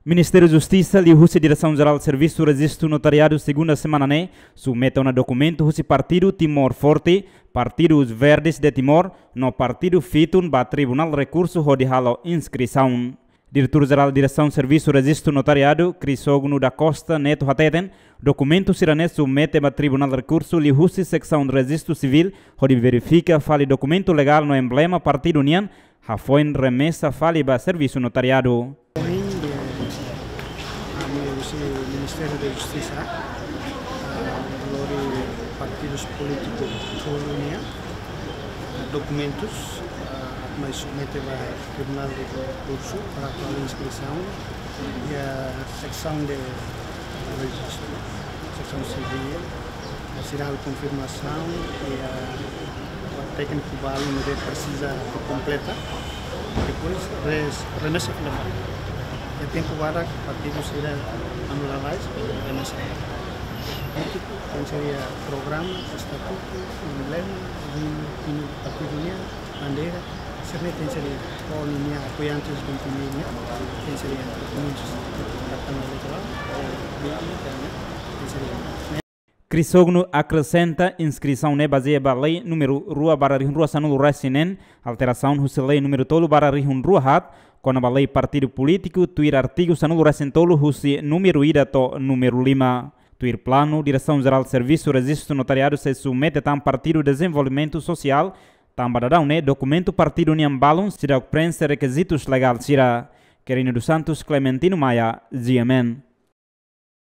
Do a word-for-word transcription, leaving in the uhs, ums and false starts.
Ministériu Justisa liuhusi Diresaun Jerál Servisu Rejistu Notariadu segunda semana ne'e submete ona dokumentu husi Partidu Timor Forte, Partidu Os Verdes de Timor, no Partidu Fitun ba Tribunál Rekursu hodi halo inskrisaun. Diretór Jerál Diresaun Servisu Rejistu Notariadu, Crisógono da Costa Neto hateten, dokumentu sira-ne'e submete ba Tribunál Rekursu liuhusi Seksaun Rejistu Sivíl hodi verifika fali dokumentu legál no emblema partidu nian, hafoin remesa fali ba servisu notariadu. Ohin, eh, ami husi Ministériu Justisa, ah, lori partidus polítikus tolu nian, ah, dokumentus, ah, atu mai submete ba Tribunál Rekursu para atu halo inskrisaun iha seksaun de rejistu, seksaun sivíl, sira halo konfirmasaun, iha tékniku balu ne'ebé presiza kompleta. Depois, res-, remesa fila fali. Iha tempu badak partidu sira anu lalais, remesa fila fali. Polítiku, tenke ser iha programa, estatutu, emblema, himnu, himnu partidu nian, bandeira, sira-ne'e tenke ser iha, ho ninia apoiantes de ninia, tenke ser iha dokumentus, kartaun eleitorál, B I, tenke ser iha. Crisógono akresenta, inskrisaun ne'e bazeia ba lei númeru rua barra rihun rua sanulu resin neen, alterasaun husi lei númeru tolu barra rihun rua haat, kona-ba lei partidu polítiku, tuir artigu sanulu resin tolu husi númeru ida to'o númeru lima. Tuir planu, Diresaun Jerál Servisu Rejistu Notariadu sei submete tan Partidu Dezenvolvimentu Sosiál, tanba daudaun ne'e dokumentu partidu nian balun seidauk preenxe rekizitus legál sira. Quirino dos Santos, Clementino Maia, G M N.